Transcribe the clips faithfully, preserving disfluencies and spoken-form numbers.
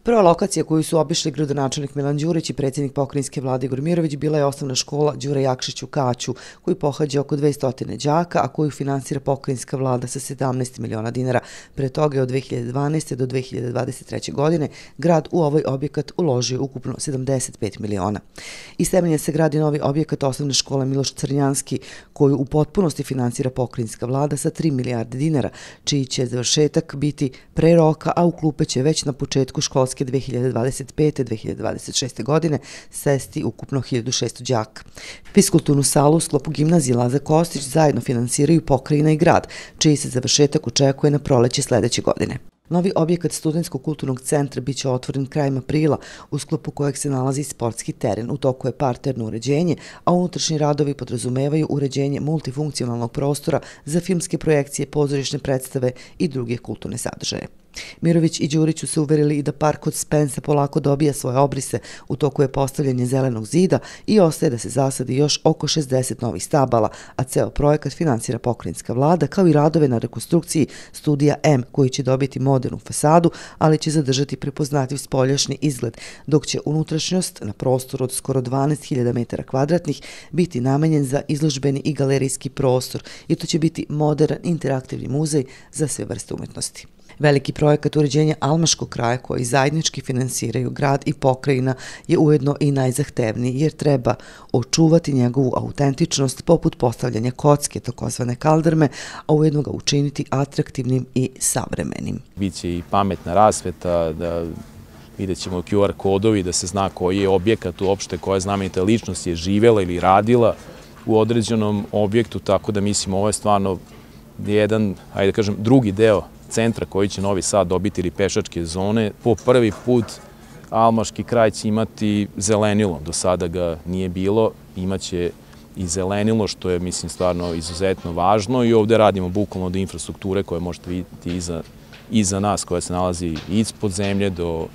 Prva lokacija koju su obišli gradonačelnik Milan Đurić i predsjednik pokrajinske vlade Igor Mirović bila je osnovna škola Đure Jakšić u Kaću, koju pohađa oko dvesta đaka, a koju finansira pokrajinska vlada sa sedamnaest miliona dinara. Pre toga je od dve hiljade dvanaeste. do dve hiljade dvadeset treće. godine grad u ovaj objekat uložio ukupno sedamdeset pet miliona. Iz temelja se gradi novi objekat osnovne škole Miloš Crnjanski, koju u potpunosti finansira pokrajinska vlada sa tri milijarde dinara, čiji će završetak biti pre roka, a u klupe će već na početku školske dve hiljade dvadeset pete. do dve hiljade dvadeset šeste. godine sesti ukupno hiljadu šesto đaka. Fiskulturnu salu u sklopu gimnazije Laza Kostić zajedno finansiraju pokrajina i grad, čiji se završetak očekuje na proleće sledeće godine. Novi objekat Studentskog kulturnog centra biće otvoren krajem aprila, u sklopu kojeg se nalazi sportski teren. U toku je parterno uređenje, a unutrašnji radovi podrazumevaju uređenje multifunkcionalnog prostora za filmske projekcije, pozorišne predstave i druge kulturne sadržaje. Mirović i Đurić su se uverili i da park od Spensa polako dobija svoje obrise. U toku je postavljanje zelenog zida i ostaje da se zasadi još oko šezdeset novih stabala, a ceo projekat finansira pokrajinska vlada, kao i radove na rekonstrukciji studija M, koji će dobiti modernu fasadu, ali će zadržati prepoznatljiv spoljašnji izgled, dok će unutrašnjost na prostoru od skoro dvanaest hiljada metara kvadratnih biti namenjen za izložbeni i galerijski prostor, i to će biti modern interaktivni muzej za sve vrste umetnosti. Veliki projekat uređenja Almaškog kraja, koji zajednički finansiraju grad i pokrajina, je ujedno i najzahtevniji, jer treba očuvati njegovu autentičnost poput postavljanja kocke, takozvane kaldrme, a ujedno ga učiniti atraktivnim i savremenim. Biće i pametna rasveta, da vidjet ćemo Q R kodovi, da se zna koji je objekat uopšte, koja znamenita ličnost je živela ili radila u određenom objektu, tako da mislim ovo je stvarno jedan, ajde da kažem, drugi deo centra koji će Novi Sad dobiti, ili pešačke zone. Po prvi put Almaški kraj će imati zelenilo, do sada ga nije bilo, imaće i zelenilo, što je, mislim, stvarno izuzetno važno, i ovde radimo bukvalno do infrastrukture koje možete vidjeti iza, iza nas, koja se nalazi ispod zemlje, do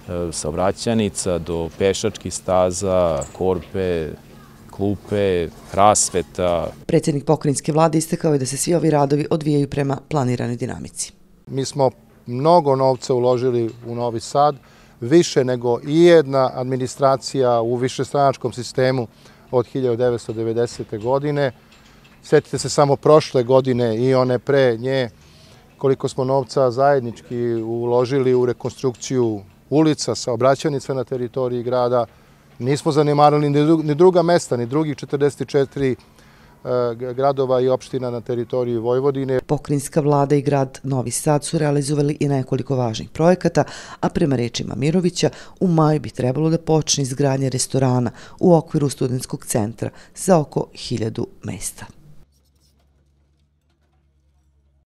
e, saobraćajnica, do pešačkih staza, korpe, klupe, rasveta. Predsjednik pokrajinske vlade istakao je da se svi ovi radovi odvijaju prema planiranoj dinamici. Mi smo mnogo novca uložili u Novi Sad, više nego i jedna administracija u višestranačkom sistemu od hiljadu devetsto devedesete. godine. Sjetite se samo prošle godine i one pre nje, koliko smo novca zajednički uložili u rekonstrukciju ulica, saobraćajnica na teritoriji grada. Nismo zanemarili ni druga mesta, ni drugih četrdeset četiri gradova i opština na teritoriji Vojvodine. Pokrajinska vlada i grad Novi Sad su realizovali i nekoliko važnih projekata, a prema rečima Mirovića u maju bi trebalo da počne izgradnja restorana u okviru studentskog centra za oko hiljadu mesta.